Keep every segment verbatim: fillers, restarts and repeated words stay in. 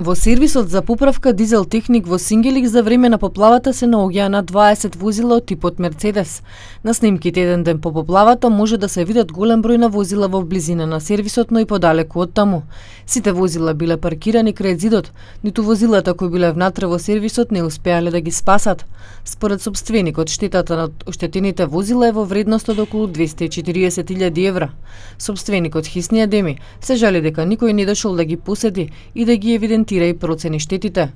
Во сервисот за поправка Дизел Техник во Сингелик за време на поплавата се наоѓаа над дваесет возила од типот Мерцедес. На снимките еден ден по поплавата може да се видат голем број на возила во близина на сервисот, но и подалеку од таму. Сите возила биле паркирани крај зидот, ниту возилата кои биле внатре во сервисот не успеале да ги спасат. Според сопственикот, штетата на оштетените возила е во вредност од околу двесте и четириесет илјади евра. Сопственикот Хисни Адеми се жали дека никој не дошол да ги поседи и да ги евидентира и процени штетите.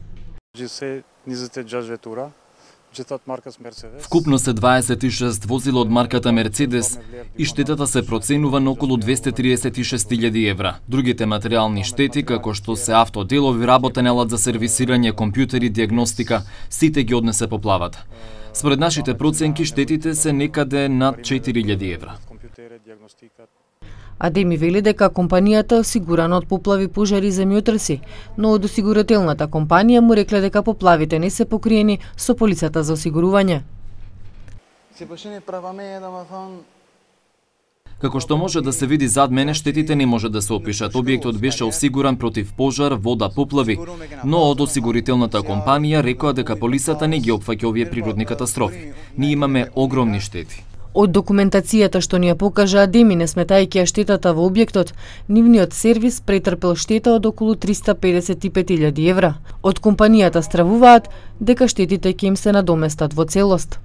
Вкупно се дваесет и шест возила од марката Мерцедес и штетата се проценува на околу двесте триесет и шест илјади евра. Другите материјални штети, како што се автоделови, работен елат за сервисирање, компјутери, диагностика, сите ги однесе поплавата. Според нашите проценки, штетите се некаде над четири илјади евра. Адеми вели дека компанијата е осигурана од поплави, пожари и земјотреси, но од осигурителната компанија му рекле дека поплавите не се покриени со полицата за осигурување. Како што може да се види зад мене, штетите не може да се опишат. Објектот беше осигуран против пожар, вода, поплави, но од осигурителната компанија рекоа дека полицата не ги опфаќа овие природни катастрофи. Ние имаме огромни штети. Од документацијата што ни ја покажа Адеми, не сметајќи ја штетата во објектот, нивниот сервис претрпел штета од околу триста педесет и пет илјади евра. Од компанијата стравуваат дека штетите ќе им се надоместат во целост.